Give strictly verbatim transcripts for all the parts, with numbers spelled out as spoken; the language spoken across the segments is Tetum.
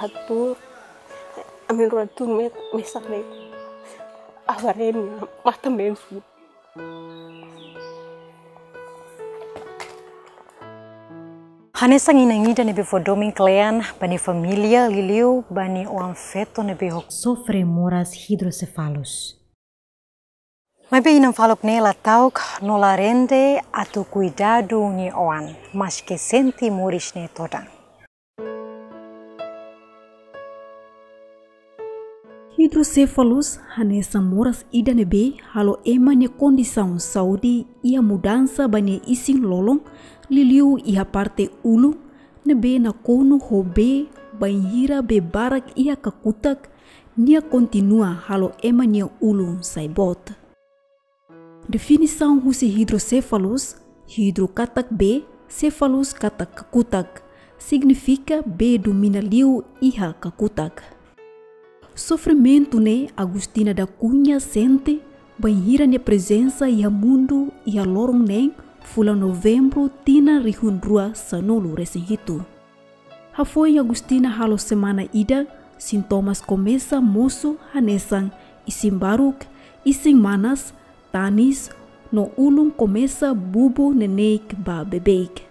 Atu, ami rua tun me, mesak ne'e. Avareni, matan been fut. Hanesan inan ida ne'ebé fó domin kle'an ba nia família, liuliu ba nia oan-feto ne'ebé ho sofre moras hidrosefalus. Maibé inan faluk ne'e la ta'uk no la rende atu kuidadu nia oan, maske sente moris ne'e todan. Hidrosefalus hanesan moras ida ne'ebé halo ema nia kondisaun saúde iha mudansa ba nia isin-lolon, liuliu iha parte ulun, ne'ebé nakonu ho bee bainhira bee barak iha kakutak, nia kontinua halo ema nia ulun sai boot. Definisaun husi hidrosefalus, hidro katak bee, sefalus katak kakutak, signifika bee domina liu iha kakutak. Sofrimentu ne'e Agostina da Cunha sente bainhira nia prezensa iha mundu iha loron neen fulan Novembru tinan rihun rua sanulu resin hitu. Hafoin Agostina halo semana ida, sintomas komesa mosu hanesan isin baruk, isin manas, tanis, no ulun komesa bubu neineik ba beibeik.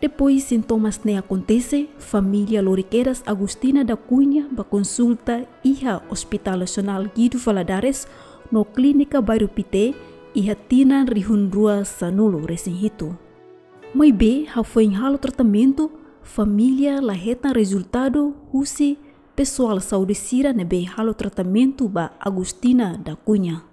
Depois sintomas ne'e akontese, família lori kedas Agostina da Cunha ba konsulta iha Hospital Nasionál Guido Valadares no Klínika Bairru Pité iha tinan rihun rua sanulu resin hitu. Maibé hafoin halo tratamentu, família la hetan rezultadu husi pesoál saúde sira ne'ebé halo tratamentu ba Agostina da Cunha.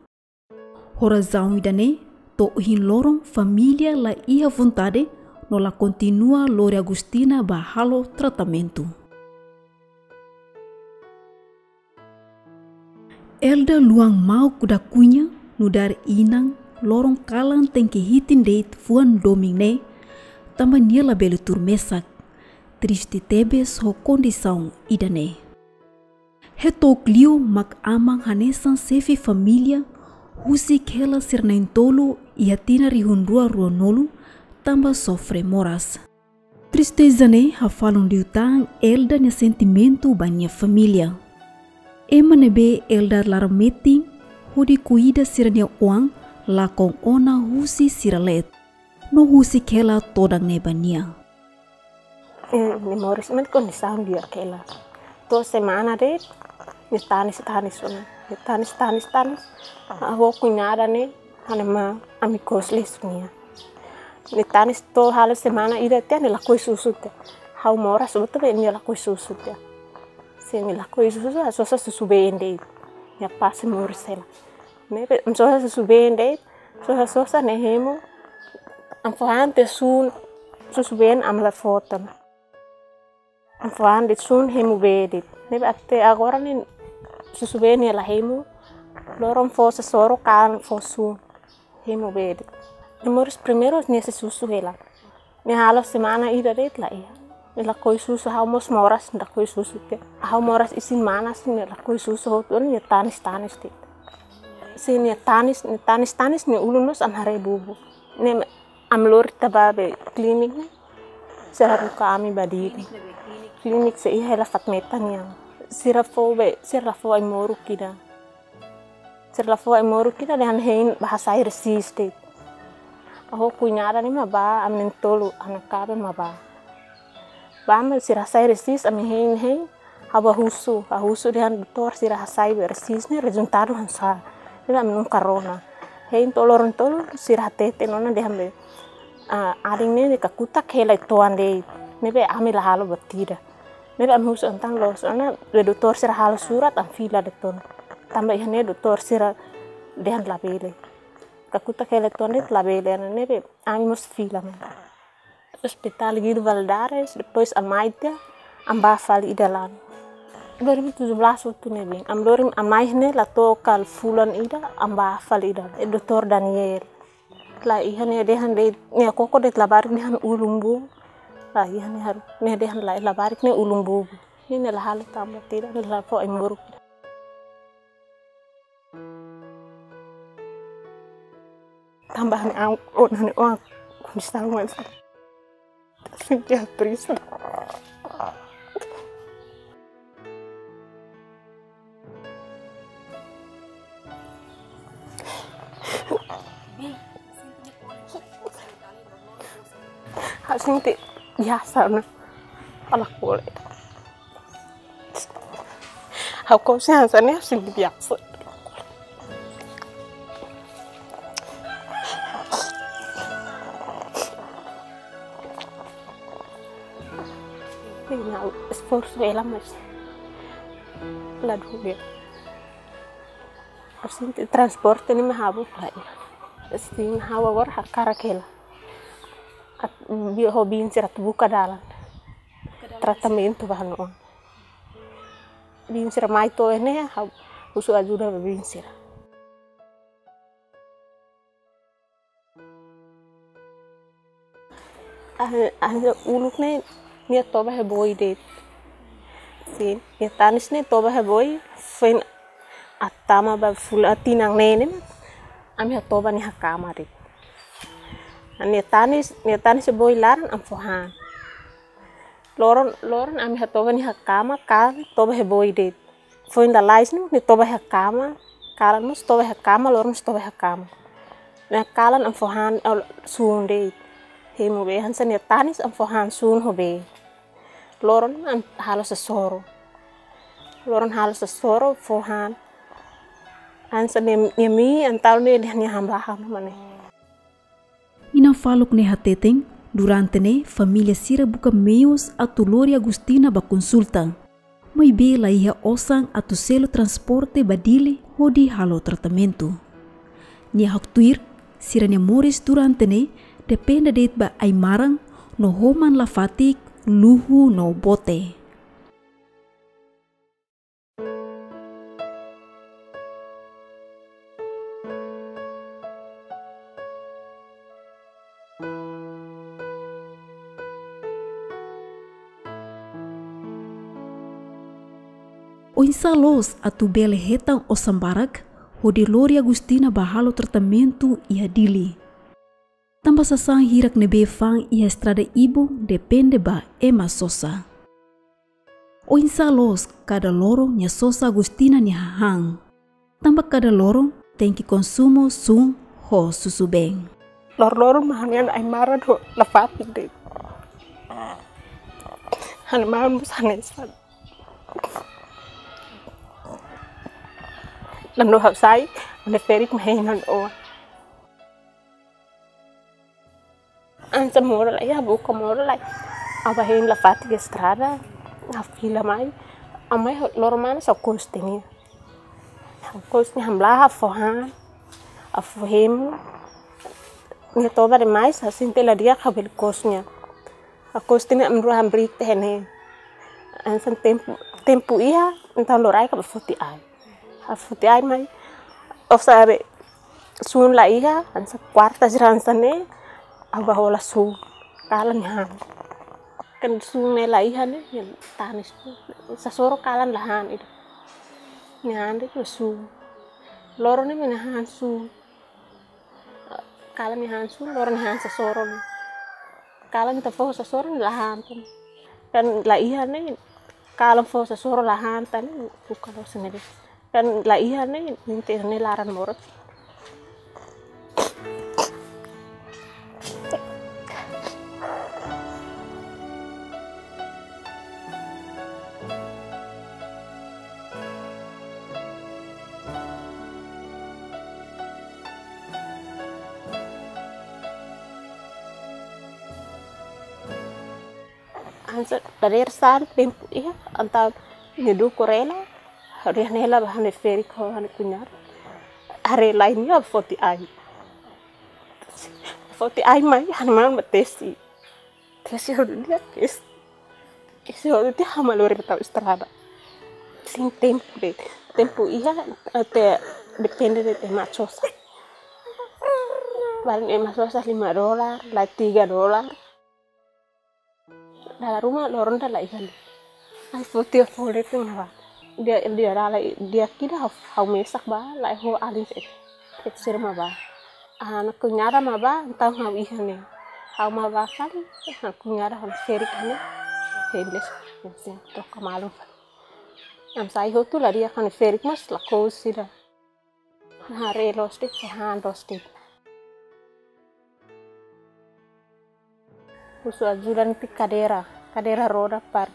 Ho razaun ida-ne'e, to'o ohin loron família la iha vontade no la kontinua lori Agostina ba halo tratamentu. Elda Luan Mauk da Cunha, nu'udar inan, loron kalan tenke hitin de'it fuan domin ne'e, tanba nia labele tuur mesak. Triste tebes ho kondisaun ida-ne'e. Heto'o liu mak aman hanesan xefe família, husik hela sira na'in-tolu iha tinan rihun rua ruanulu, tanba sofre moras. Tristeza ne'e hafalun liután Elda nia sentimentu ba nia família. Ema ne'ebé Elda laran metin hodi kuida sira-nia oan lakon ona husi sira leet. No husik hela todan ne'e ba nia. Eh, nia moris mak kondisaun di'ak hela. To'o semana de'it, nia tanis-tanis ona. Nia tanis, tanis, tanis. Ha'u ho kuñada ne'e, ha'u-nia maun, ami kos lesu nia. Nia tanis to'o halo semana ida tiha nia lakohi susu tiha. Ha'u moras hotu be nia lakohi susu tiha. Se nia lakohi susu, ha'u sosa susubeen de'it. Nia pase moris hela. Ne'ebé, ha'u sosa susubeen de'it, sosa-sosa ne'e hemu. Ha'u fó han tiha sun, susubeen ami la fó tan. Ha'u fó han de'it sun hemu bee de'it. Ne'ebé até agora ne'e susubeen ne'e la hemu. Loron fó sasoro, kalan fó sun. Hemu bee de'it. Nia moris primeiru nia sei susu hela. Nia halo semana ida de'it la iha. Nia lakohi susu, ha'u mós moras, nia lakohi susu tiha. Ha'u moras isin manas, nia lakohi susu hotu, nia tanis-tanis de'it. Se nia tanis, nia tanis-tanis, nia ulun mós ami haree bubu. Ne'e ami lori tiha ba be klinik ne'e. Sira haruka ami ba Dili. Klinik sei iha hela fatin metan nian. Sira fó be, sira la fó ai-moruk ida. Sira la fó ai-moruk ida dehan hein bá hasai resis de'it. Ha'u ho kuñada ne'e mak bá, ami na'in-tolu, ha'u-nia kaben mak bá. Bá mak sira hasai resis, ami hein, hein. Ha'u bá husu, ha'u husu dehan doutór sira hasai be resis ne'e rezultadu hanesan sá. Dehan ami nunka rona. Hein to'o loron tolu sira hateten ona dehan be, ah, adin ne'e nia kakutak hela uitoan de'it. Ne'ebé ami la halo buat ida. Ne'ebé ami husu entaun loos ona be doutór sira halo surat ami fila de'it ona. Tanba iha ne'e doutór sira dehan labele. Kakutak hela uitoan de'it labele, ne'ebé ami mós fila mai. Hospital Guido Valadares, depois ami mai tiha, ami bá fali ida lai. Dua ribu tujuh belas hotu ne'ebé. Ami lori, ami mai ne'e la to'o kala fulan ida, ami bá fali ida lai. Eh, doutór Daniel. La iha, nia dehan de'it, nia koko de'it labarik dehan ulun bubu. La iha, nia haru, nia dehan la, labarik ne'e ulun bubu. Ne'e nia la halo tan buat ida, nia la fó ai-moruk. Tanba ha'u-nia oan, ha'u-nia oan kondisaun hanesan sente triste. Sente biasa ona. Ala kole. Ha'u kose hanesan ne'e sente biasa. Nia esforsu hela, mas la dún de'it. Sente transporte ne'e mak ha'u la iha. Sin ha'u agora hakarak hela. Atu, bi-, ho biin sira atu buka dalan. Tratamentu ba ha'u-nia oan. Biin sira mai to'o ne'e, ha'u husu ajuda ba biin sira. Ah, ah, uluk ne'e, nia toba iha boi de'it. Sin, nia tanis ne'e toba iha boi, foin atu tama ba fulan tinan neen ne'e, ami hatoba nia iha kama de'it. Nia tanis, nia tanis iha boi laran, ami fó han. Loron, loron ami hatoba nia iha kama, kalan toba iha boi de'it. Foin lalais ne'e, nia toba iha kama, kalan mós toba iha kama, loron mós toba iha kama. Nia kalan ami fó han, oh, sun de'it. Hemu bee, hanesan nia tanis ami fó han sun ho bee. Loron ami halo sasoro. Loron halo sasoro, fó han. Hanesan nia, nia mii, entaun nia, nia hamlaha mane. Inan faluk ne'e hateten, durante ne'e família sira buka meius atu lori Agustina ba konsulta. Maibé la iha osan atu selu transporte ba Dili hodi halo tratamentu. Nia haktuir, sira-nia moris durante ne'e depende de'it ba ai-maran no homan lafatik, luhu no bote. Oinsá loos atu bele hetan osan barak hodi lori Agustina ba halo tratamentu iha Dili. Tanba sasán hirak ne'ebé fa'an iha estrada ibun depende ba ema sosa. Oinsá loos kada loron nia sosa Agustina nia hahán. Tanba kada loron tenke konsumu sun ho susubeen. Lor-loron mak ha'u-nia ai-maran ho lafatik de'it. Ha'u-nia maun mós hanesan. Tanba ha'u sai, ha'u-nia ferik mak hein ha'u-nia oan. Hanesan moras lai, ha'u buka moras lai. Ha'u bá hein lafatik iha estrada, ha'u fila mai. Ha'u mai loron manas ha'u kos tiha nia. Ha'u kos nia, hamlaha, ha'u fó han, ha'u fó hemu. Nia toba demais, ha'u sente la di'ak, ha'u bele kos nia. Ha'u kos tiha nia, ami rua hamriik tiha ne'e. Hanesan tempu, tempu iha, entaun loraik ha'u bá foti ai. Ha'u foti ai mai. Osan haree sun la iha, hanesan kuarta sira hanesan ne'e, ha'u bá hola sun. Kalan nia han. Kan sun ne'e la iha ne'e, nia tanis. Sasoro kalan la han ida. Nia han de'it sun. Loron ne'e mak nia han sun. Kalan nia han sun, loron nia han sasoro. Kalan ita fó sasoro la han tan. Kan la iha ne'e, kalan fó sasoro la han tan, buka loos ne'e de'it. Kan la iha ne'e, nia tenke iha ne'e laran moras. Hanesan dadeer-saan tempu iha, entaun nia dukur hela, ha'u dehan hela ba ha'u-nia ferik ho ha'u-nia kuñada. Haree lai nia foti ai. Foti ai mai, ha'u-nia maun mak tesi. Tesi hotu tiha, tesi. Tesi hotu tiha, ha'u mak lori bá tau estrada. Sin tempu de'it. Tempu iha, até depende de'it ema sosa. Paling ema sosa lima dolar, lai tiga dolar. Dala ruma loron ida la iha. Ai foti fole tengah ba. Dia, dia dala, dia kida ha'u, ha'u mesak ba, lai ho alin se. Sira mak bá. Ha'u-nia kuñada mak bá, entaun ha'u iha ne'e. Ha'u mak bá fali, ha'u-nia kuñada ho ha'u-nia ferik ne'e. Hendes, sin, troka malu. Ami sai hotu la di'ak, ha'u-nia ferik mós lakohi sira. Haree loos de'it, han loos de'it. Husu ajuda netik kadeira, kadeira roda para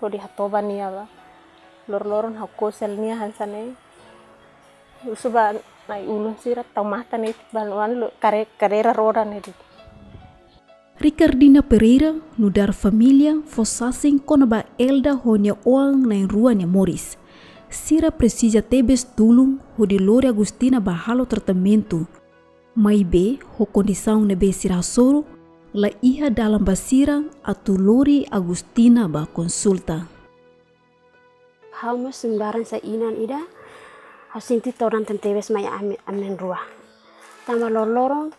hodi hatoba nia ba. Loroloron ha'u kose nia hanesan ne'e. Husu ba nai-ulun sira tau matan netik ba luan lo kare-, kadeira roda netik. Ricardina Pereira nu'udar família fó sasin kona-ba Elda ho nia oan na'in-rua nia moris. Sira presiza tebes tulun hodi lori Agustina ba halo tratamentu. Maibé ho kondisaun ne'ebé sira hasoru, la iha dalan ba sira atu lori Agustina ba konsulta. Ha'u mós nu'udar hanesan inan ida, ha'u sente todan tebetebes mai ami, ami na'in-rua. Tanba loroloron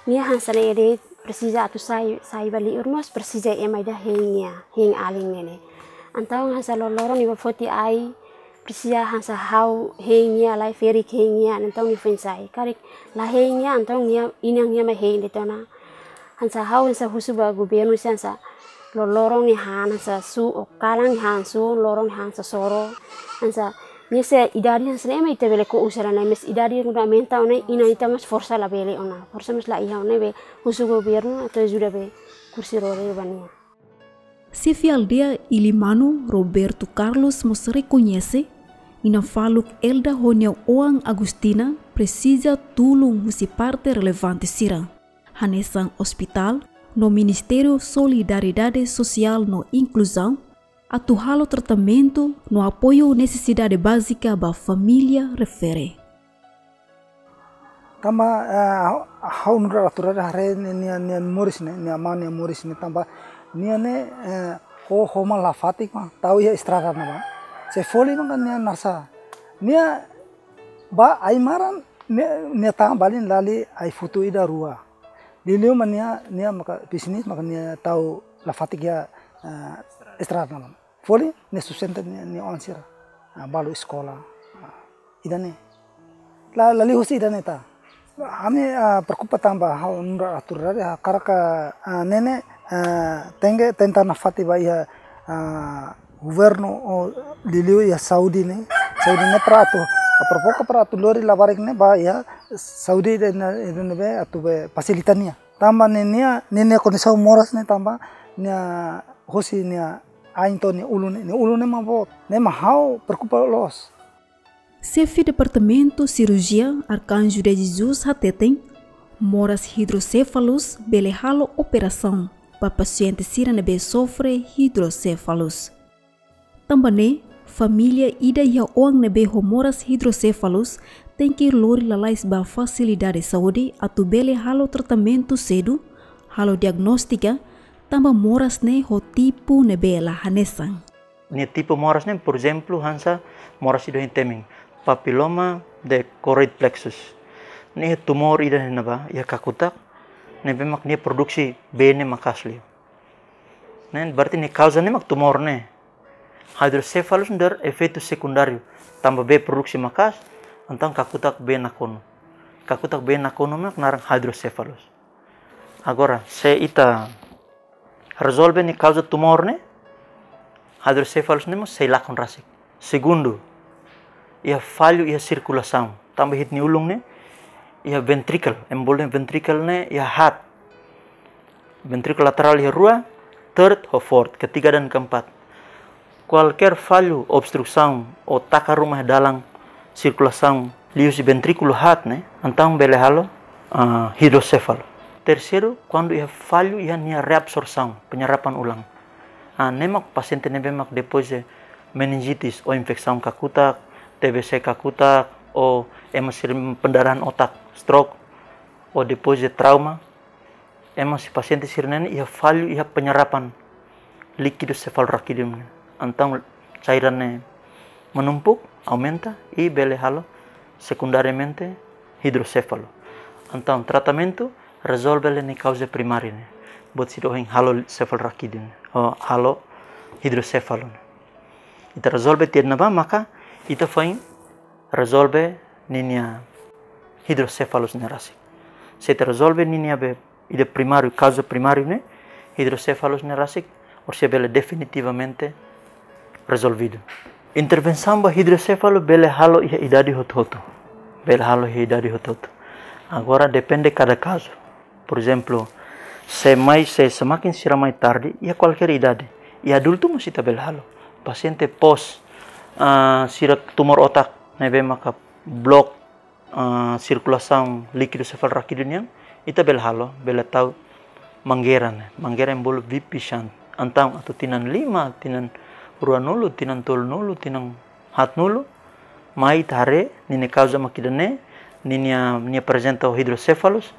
nia hanesan ne'e de'it presiza atu sai, sai ba li'ur mós presiza ema ida hein nia, hein alin ne'e. Entaun hanesan loroloron nia bá foti ai, presiza hanesan ha'u hein nia, lai ferik hein nia, entaun nia foin sai. Karik la hein nia, entaun nia inan nia mai hein de'it ona. Hanesan ha'u hanesan husu ba governu sira hanesan loroloron nia han hanesan su'uk, kalan nia han su'uk, loron nia han hanesan soro. Hanesan nia se idade hanesan ne'e mak ita bele ko'us hela ne'e, mais idade kuandu aumenta ona inan ita mós forsa labele ona. Forsa mós la iha ona, ne'ebé husu governu atu ajuda be kursi roda ba nia. Xefe aldeia Ilimanu, Roberto Carlos mós rekoñese, inan faluk Elda ho nia oan Agustina presiza tulun husi parte relevante sira, hanesan ospitál no Ministériu Solidariedade Sosiál no Inkluzaun, atu halo tratamentu no apoiu nesesidade bázika ba família refere. Tanba, eh, ha'u nu'udar atu haree nia, nia, nia moris ne'e, nia amá nia moris ne'e tanba nia ne'e, eh, ho, ho mak la fatik mak tau iha estrada ne'ebá. Se folin maka nia nasa. Nia bá ai-maran nia, nia tama balin lali ai-futu ida rua. Liuliu mak nia, nia maka pisinis maka nia tau la fatik iha, eh, estrada ne'ebá. Folin nia sustenta nia, nia oan sira. Ah, balu eskola. Ah, ida-ne'e. La, la liu husi ida-ne'e ta. Ami, ah, preokupa tanba ha'u nu'udar atu haree, ah, hakarak, ah, ne'e ne'e, ah, tenke tenta nafatin ba iha, ah, governu ou liuliu iha saúde ne'e. Saúde ne'e para atu, ah, preokupa para atu lori labarik ne'e ba iha saúde ida ne'e, ida ne'ebé atu be fasilita nia. Tanba ne'e nia, ne'e nia kondisaun moras ne'e tanba nia hosi nia ain to'o nia ulun ne'e, nia ulun ne'e mak boot. Ne'e mak ha'u preokupa loos. Xefe Departamentu Sirurjia Arcanjo de Jesus hateten, moras hidrosefalus bele halo operasaun ba pasiente sira ne'ebé sofre hidrosefalus. Tanba ne'e, família ida iha oan ne'ebé ho moras hidrosefalus tenke lori lalais ba fasilidade saúde atu bele halo tratamentu sedu, halo diagnóstika, tanba moras ne'e ho tipu ne'ebé la hanesan. Nia tipu moras ne'e, por ezemplu, hanesan moras ida ohin temi, papiloma de choroid plexus. Ne'e tumór ida ne'ebá iha kakutak, ne'ebé mak nia produksi bee ne'e maka'as liu. Ne'e berarti nia kauza ne'e mak tumór ne'e. Hidrosefalus nu'udar efeitu sekundáriu. Tanba bee produksi maka'as, entaun kakutak bee nakonu. Kakutak bee nakonu mak naran hidrosefalus. Agora, se ita rezolve nia kauza tumór ne'e, hidrosefalus ne'e mós sei lakon rasik. Segundu, iha fallu iha sirkulasaun. Tanba ita-nia ulun ne'e iha ventricle, ema bolu dehan ventricle ne'e iha haat. Ventricle lateral iha rua, third ho fourth, ketiga dan keempat. Kualkér fallu, obstrusaun ou taka ruma iha dalan sirkulasaun liuhusi ventríkulu haat ne'e, entaun bele halo, ah, hidrosefalu. Terseiru, kuandu iha fallu iha nia reabsorsaun, penyerapan ulang. Ah, ne'e mak pasiente ne'ebé mak depois de meningitis ou infesaun kakutak, T B C kakutak, ou ema sira pendarahan otak, stroke, ou depois de trauma, ema sira pasiente sira-ne'e iha fallu iha penyerapan líkidu sefalurakídiu ne'e. Entaun cairan ne'e menumpuk, aumenta, i bele halo sekundariamente hidrosefalu. Entaun tratamentu rezolve hela nia kauza primária ne'e. Buat sira ohin halo sefalurakídiu ne'e, ou halo hidrosefalu ne'e. Ita rezolve tiha ne'ebá maka ita foin rezolve ninia hidrosefalus ne'e rasik. Se ita rezolve ninia be ida primáriu, kauza primáriu ne'e, hidrosefalus ne'e rasik, orsida bele definitivamente rezolvidu. Intervensaun ba hidrosefalu bele halo iha idade hotu-hotu. Bele halo iha idade hotu-hotu. Agora depende kada kazu. Por ezemplu, Se mai, se semakin sira mai tarde, iha kualkér idade, iha adultu mós ita bele halo. Pasiente pós, ah, sira tumór otak ne'ebé maka blok, ah, sirkulasaun líkidu sefalorrákidu nian, ita bele halo, bele tau mangeira ne'e. Mangeira envolve V P shunt. Entaun atu tinan lima, tinan ruanulu, tinan tolunulu, tinan haatnulu, mai ita haree, ninia kauza mak ida-ne'e, ninia, nia aprezenta ho hidrosefalus,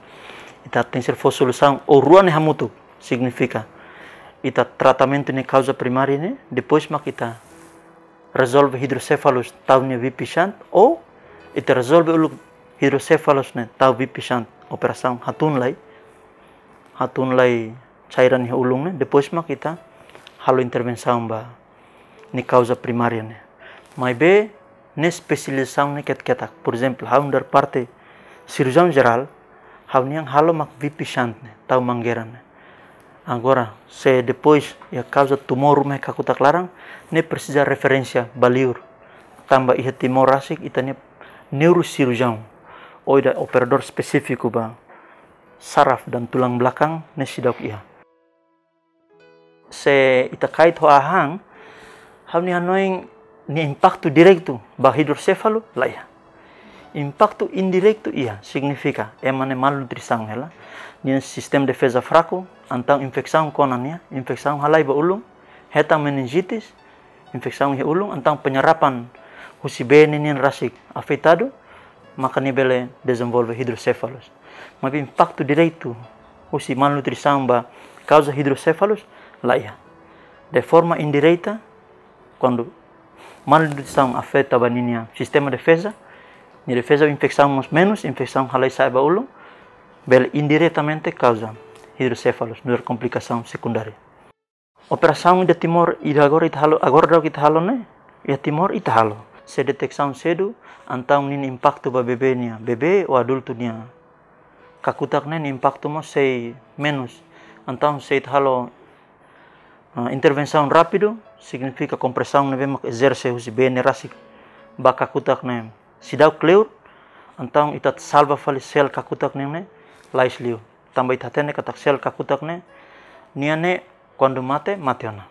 ita tenke fó solusaun, ou rua ne'e hamutuk, signifika ita tratamentu nia kauza primária ne'e, depois mak ita rezolve hidrosefalus tau nia V P shunt, ou ita rezolve uluk hidrosefalus ne'e tau V P shunt, operasaun hatun lai, hatun lai cairan iha ulun ne'e, depois mak ita halo intervensaun ba nia kauza primária ne'e. Maibé, ne'e espesializasaun ne'e ketak-ketak. Por ezemplu, ha'u nu'udar parte sirurjiaun jerál, ha'u-nian halo mak V P shunt ne'e, tau mangeira ne'e. Agora, se depois iha kauza tumór ruma iha kakutak laran, ne'e presiza referénsia ba liur. Tanba iha Timor rasik, ita-nia neurosirurjiaun, ou ida operadór espesífiku ba saraf dan tulang belakang, ne'e seidauk iha. Se ita kait ho an, ha'u-nia hanoin nia impaktu diretu ba hidrosefalu, la iha. Impaktu indiretu iha, signifika ema ne'e malnutrisaun hela, nia sistema defeza fraku, entaun infesaun kona nia, infesaun halai ba ulun, hetan meningitis, infesaun iha ulun, entaun penyerapan husi bee ne'e nian rasik afetadu, maka nia bele dezenvolve hidrosefalus. Maibé impaktu diretu husi malnutrisaun ba kauza hidrosefalus, la iha. De forma indireta, kuandu malnutrisaun afeta ba ninia sistema defeza, nia defeza infesaun mós menus, infesaun halai sa'e ba ulun, bele indiretamente kauza hidrosefalus, nu'udar komplikasaun sekundária. Operasaun iha Timor, ida agora ita halo, agora daudauk ita halo ne'e, iha Timor ita halo. Se deteksaun sedu, entaun ninia impaktu ba bebé nian, bebé ou adultu nian kakutak ne'e, nia impaktu mós sei menus. Entaun se ita halo, ah, intervensaun rápidu, signifika kompresaun ne'ebé mak ezerse husi bee ne'e rasik ba kakutak ne'e seidauk kleur, entaun ita salva fali sel kakutak ne'e, ne'e lais liu. Tanba ita hatene katak sel kakutak ne'e, nia ne'e kuandu mate, mate ona.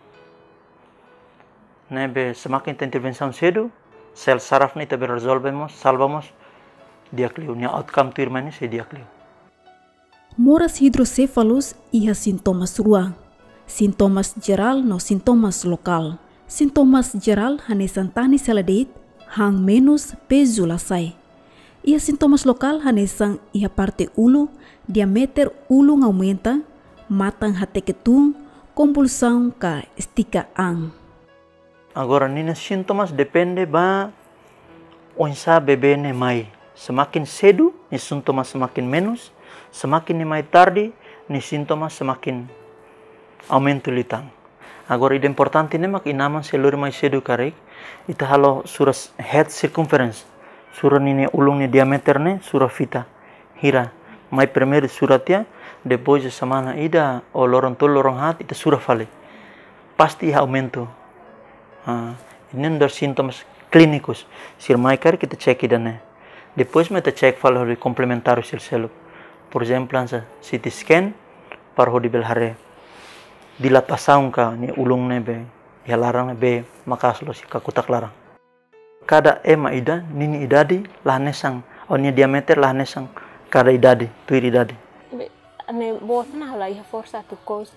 Ne'ebé semakin ita intervensaun sedu, sel saraf ne'e ita bele rezolve mós, salva mós di'ak liu, nia outcome tuirmai ne'e sei di'ak liu. Moras hidrosefalus iha sintomas rua. Sintomas jerál no sintomas lokál. Sintomas jerál hanesan tanis hela de'it, han menus, pezu la sai. Iha sintomas lokál hanesan iha parte ulun, diameter ulun aumenta, matan hateke tun, konvulsaun ka estika an. Agora, ninia sintomas depende ba oinsá bebé ne'e mai. Semakin sedu, nia sintomas semakin menus, semakin nia mai tarde, nia sintomas semakin aumenta liután. Agora, ida importante ne'e mak inan-aman se lori mai sedu karik, ita halo sura s-, head circumference, sura ninia ulun nia diameter ne'e, sura fita hira. Mai primeiru sura tiha, depois de semana ida, ou loron tolu, loron haat, ita sura fali. Pasti iha aumentu. Ah, ne'e nu'udar sintomas klínikus. Sira mai karik ita cek ida-ne'e. Depois mak ita cek fali hodi komplementáriu sira seluk. Por ezemplu, hanesan C T scan, para hodi bele haree dilatasaun ka nia ulun ne'ebé iha laran ne'ebé maka'as loos iha kakutak laran. Kada ema ida, ninia idade la hanesan, ou nia diameter la hanesan kada idade, tuir idade. Be, ne'e boot ona la iha forsa atu kous.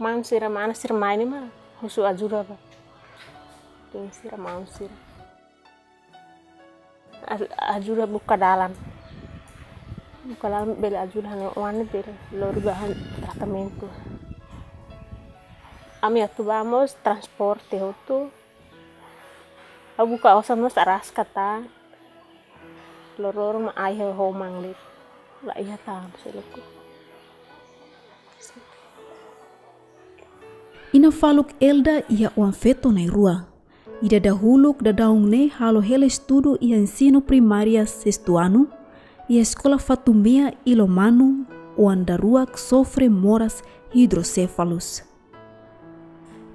Maun sira, mana sira mai ne'e mak husu ajuda ba. Tem sira maun sira. Aj-, ajuda buka dalan. Buka dalan bele ajuda ha'u-nia oan ne'e bele lori ba han tratamentu. Ami atu ba mós transporte hotu. Ha'u buka osan mós araska tan. Loroloron mak ai ho, ho manglit. La iha tan seluk. Inan faluk Elda iha oan-feto na'in-rua. Ida dahuluk daudaun ne'e halo hela estudu iha ensinu primária sestu anu, iha eskola Fatumea Ilomanu, oan daruak sofre moras hidrosefalus.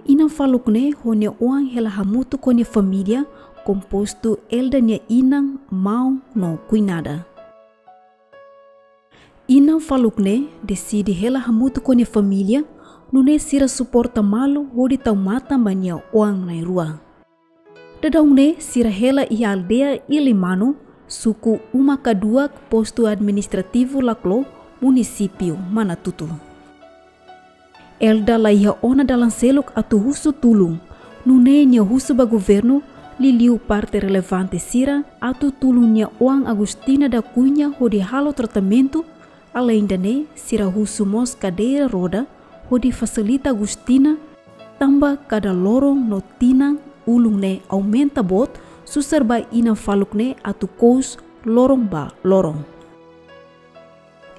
Inan faluk ne'e ho nia oan hela hamutuk ho nia família, kompostu Elda nia inan, maun no kuinada. Inan faluk ne'e deside hela hamutuk ho nia família, nune'e sira suporta malu hodi tau matan ba nia oan na'in-rua. Daudaun ne'e sira hela iha aldeia Ilimanu, suku Uma Kaduak, postu administrativu Laclo, munisípiu Manatuto. Elda la iha ona dalan seluk atu husu tulun, nune'e nia husu ba governu, liuliu parte relevante sira, atu tulun nia oan Agustina da Cunha hodi halo tratamentu. Alende ne'e, sira husu mós kadeira roda hodi fasilita Agustina, tanba kada loron no tinan ulun ne'e aumenta boot, susar ba inan faluk ne'e atu kous loron ba loron.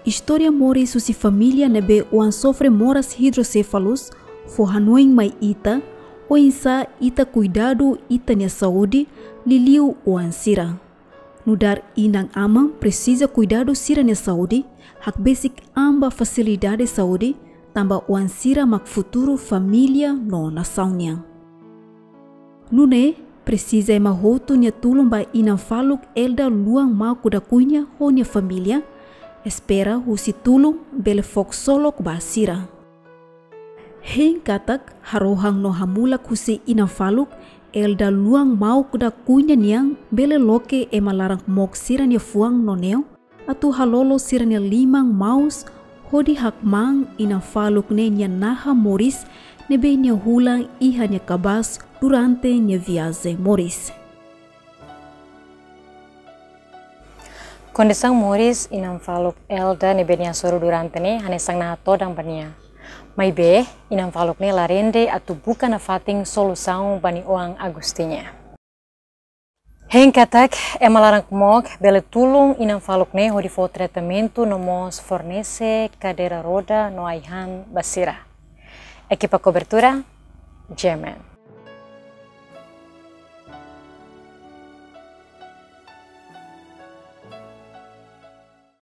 Istória moris husi família ne'ebé oan sofre moras idrosefalus fó hanoin mai ita oinsá ita kuidadu ita-nia saúde, liuliu oan sira. Nu'udar inan-aman presiza kuidadu sira-nia saúde, hakbesik an ba fasilidade saúde, tanba oan sira mak futuru família no nasaun nian. Nune'e, presiza ema hotu nia tulun ba inan faluk Elda Luan Mauk da Cunha ho nia família, espera husi tulun bele fó ksolok ba sira. Hein katak, harohan no hamulak husi inan faluk Elda Luan Mauk da Cunha nian bele loke ema laran-mook sira-nia fuan no neon, atu halolo sira-nia liman maus hodi hakmaan inan faluk ne'e nia naha moris ne'ebé nia hulan iha nia kabaas durante nia viajen moris. Kondisaun moris inan faluk Elda ne'ebé nia hasoru durante ne'e hanesan naha todan ba nia. Maibé, inan faluk ne'e la rende atu buka nafatin solusaun ba nia oan Agustina. Hein katak, ema laran-mook bele tulun inan faluk ne'e hodi fó tratamentu no mós fornese kadeira roda no ai-han ba sira. Ekipa kobertura, G M N.